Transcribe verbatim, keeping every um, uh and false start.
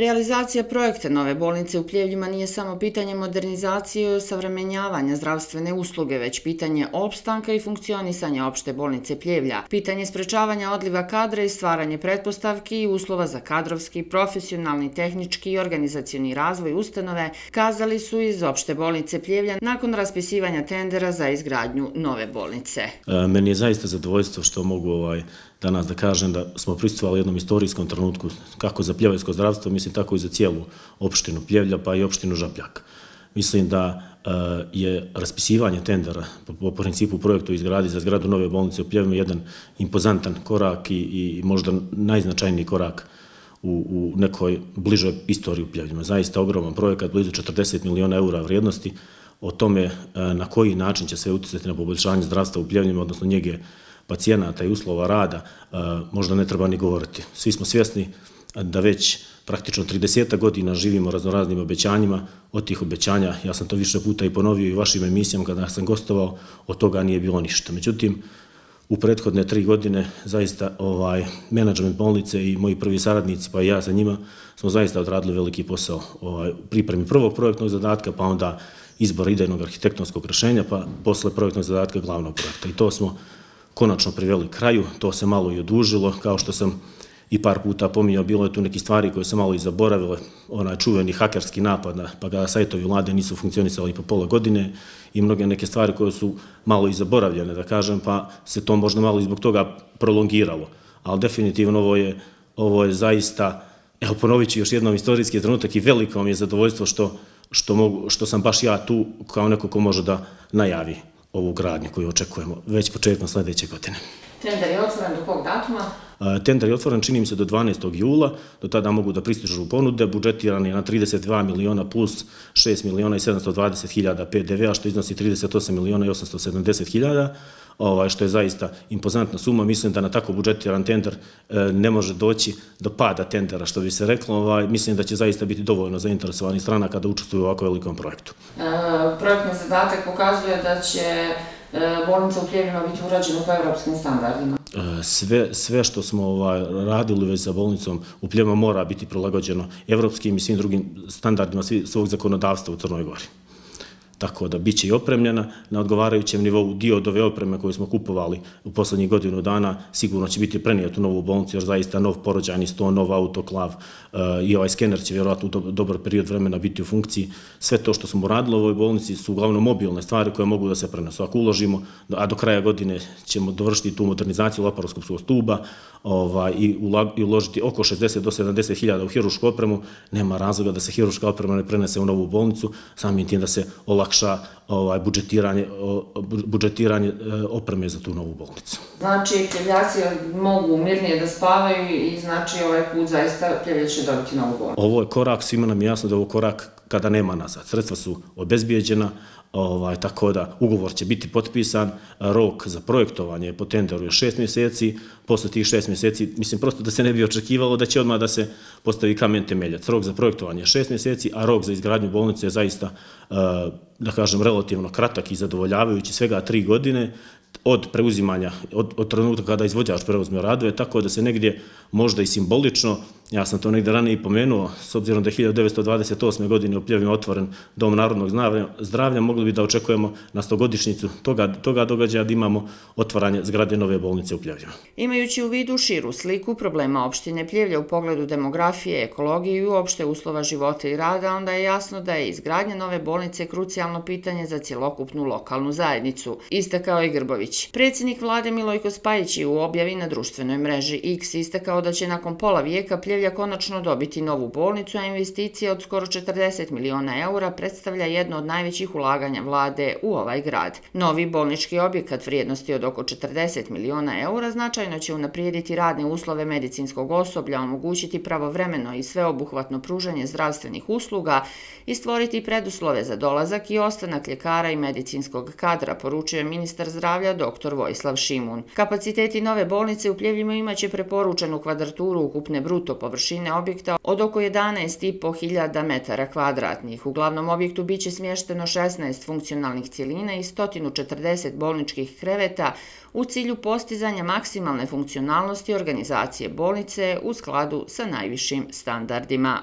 Realizacija projekta nove bolnice u Pljevljima nije samo pitanje modernizacije i osavremenjavanja zdravstvene usluge, već pitanje opstanka i funkcionisanja opšte bolnice Pljevlja, pitanje sprečavanja odliva kadra i stvaranje pretpostavki i uslova za kadrovski, profesionalni, tehnički i organizacioni razvoj ustanove, kazali su iz opšte bolnice Pljevlja nakon raspisivanja tendera za izgradnju nove bolnice. Meni je zaista zadovoljstvo što mogu ovaj danas da kažem da smo prisustvovali jednom istorijskom trenutku kako za pljevljsko zdravstvo, mislim tako i za cijelu opštinu Pljevlja pa i opštinu Žabljak. Mislim da je raspisivanje tendera po principu projektu izgradi za zgradu nove bolnice u Pljevljima jedan impozantan korak i možda najznačajniji korak u nekoj bližoj istoriji u Pljevljima. Zaista ogroman projekat, blizu četrdeset miliona eura vrijednosti. O tome na koji način će sve utjecati na poboljšanje zdravstva u Pljevljima, odnosno njege pacijenata i uslova rada, možda ne treba ni govoriti. Svi smo svjesni da već praktično trideset godina živimo raznoraznim obećanjima. Od tih obećanja, ja sam to više puta i ponovio i u vašim emisijama kada sam gostovao, od toga nije bilo ništa. Međutim, u prethodne tri godine zaista menadžment bolnice i moji prvi saradnici, pa i ja sa njima, smo zaista odradili veliki posao u pripremi prvog projektnog zadatka, pa onda izbor idejnog arhitektonskog rješenja, pa posle projektnog zadatka glavnog projekta. I to smo konačno priveli kraju, to se malo i odužilo, kao što sam i par puta pominjao, bilo je tu neki stvari koje se malo i zaboravile, onaj čuveni hakerski napad, pa kada sajtovi vlade nisu funkcionisali po pola godine i mnoge neke stvari koje su malo i zaboravljene, da kažem, pa se to možda malo i zbog toga prolongiralo. Ali definitivno ovo je, ovo je zaista, evo ponovit ću još jednom istorijski trenutak i veliko mi je zadovoljstvo što, što, mogu, što sam baš ja tu kao neko ko može da najavi ovu gradnju koju očekujemo već početkom sljedeće godine. Tender je otvoren do kog datuma? Tender je otvoren, čini mi se, do dvanaestog jula, do tada mogu da pristižu ponude, budžetiran je na trideset dva miliona plus šest miliona i sedamsto dvadeset hiljada P D V-a, što iznosi trideset osam miliona i osamsto sedamdeset hiljada, što je zaista impozantna suma. Mislim da na tako budžetiran tender ne može doći do pada tendera, što bi se reklo. Mislim da će zaista biti dovoljno zainteresovani strana kada učestvuju u ovako velikom projektu. Projektni zadatak pokazuje da će bolnica u Pljevljima biti urađena po evropskim standardima. Sve što smo radili već za bolnicom u Pljevljima mora biti prilagođeno evropskim i svim drugim standardima svog zakonodavstva u Crnoj Gori. Tako da bit će i opremljena na odgovarajućem nivou. Dio od ove opreme koju smo kupovali u poslednjih godinu dana sigurno će biti prenijet u novu bolnicu, jer zaista nov porođajni sto, nov autoklav i ovaj skener će vjerojatno u dobar period vremena biti u funkciji. Sve to što smo uradili u ovoj bolnici su uglavnom mobilne stvari koje mogu da se prenesu. Ako uložimo, a do kraja godine ćemo dovršiti tu modernizaciju laparoskopskog stuba i uložiti oko šezdeset do sedamdeset hiljada u hirušku opremu, nema razloga da se hiruška oprema ne prenese u novu bolnicu, samim tim da se olakša budžetiranje opreme za tu novu bolnicu. Znači, Pljevljaci mogu mirnije da spavaju i znači ovaj put zaista Pljevlja će dobiti novu bolnicu. Ovo je korak, svima nam je jasno da je ovo korak kada nema nazad. Sredstva su obezbijeđena, tako da ugovor će biti potpisan, rok za projektovanje po tenderu je šest mjeseci, posle tih šest mjeseci, mislim prosto da se ne bi očekivalo da će odmah da se postavi kamen temeljac. Rok za projektovanje je šest mjeseci, a rok za izgradnju bolnice je zaista, da kažem, relativno kratak i zadovoljavajući, svega tri godine od preuzimanja, od trenutka kada izvođač preuzme radove, tako da se negdje možda i simbolično, ja sam to negdje ranije i pomenuo, s obzirom da je hiljadu devetsto dvadeset osme. godine u Pljevljima otvoren Dom narodnog zdravlja, mogli bi da očekujemo na stogodišnjicu toga događaja da imamo otvaranje zgrade nove bolnice u Pljevljima. Imajući u vidu širu sliku problema opštine Pljevlja u pogledu demografije, ekologije i uopšte uslova života i rada, onda je jasno da je izgradnja nove bolnice krucijalno pitanje za cjelokupnu lokalnu zajednicu, istakao i Grbović. Predsjednik vlade Milojko Spajić je u objavi na društvenoj mreži X istakao da će nakon pola vijeka Pljevlja konačno dobiti novu bolnicu, a investicija od skoro četrdeset miliona eura predstavlja jedno od najvećih ulaganja vlade u ovaj grad. Novi bolnički objekat vrijednosti od oko četrdeset miliona eura značajno će unaprijediti radne uslove medicinskog osoblja, omogućiti pravovremeno i sveobuhvatno pružanje zdravstvenih usluga i stvoriti preduslove za dolazak i ostanak ljekara i medicinskog kadra, poručuje ministar zdravlja dr Vojislav Šimun. Kapaciteti nove bolnice u Pljevljima imaće preporučenu kvadraturu ukupne bruto površine objekta od oko jedanaest i po hiljada metara kvadratnih. U glavnom objektu biće smješteno šesnaest funkcionalnih cjelina i sto četrdeset bolničkih kreveta u cilju postizanja maksimalne funkcionalnosti organizacije bolnice u skladu sa najvišim standardima.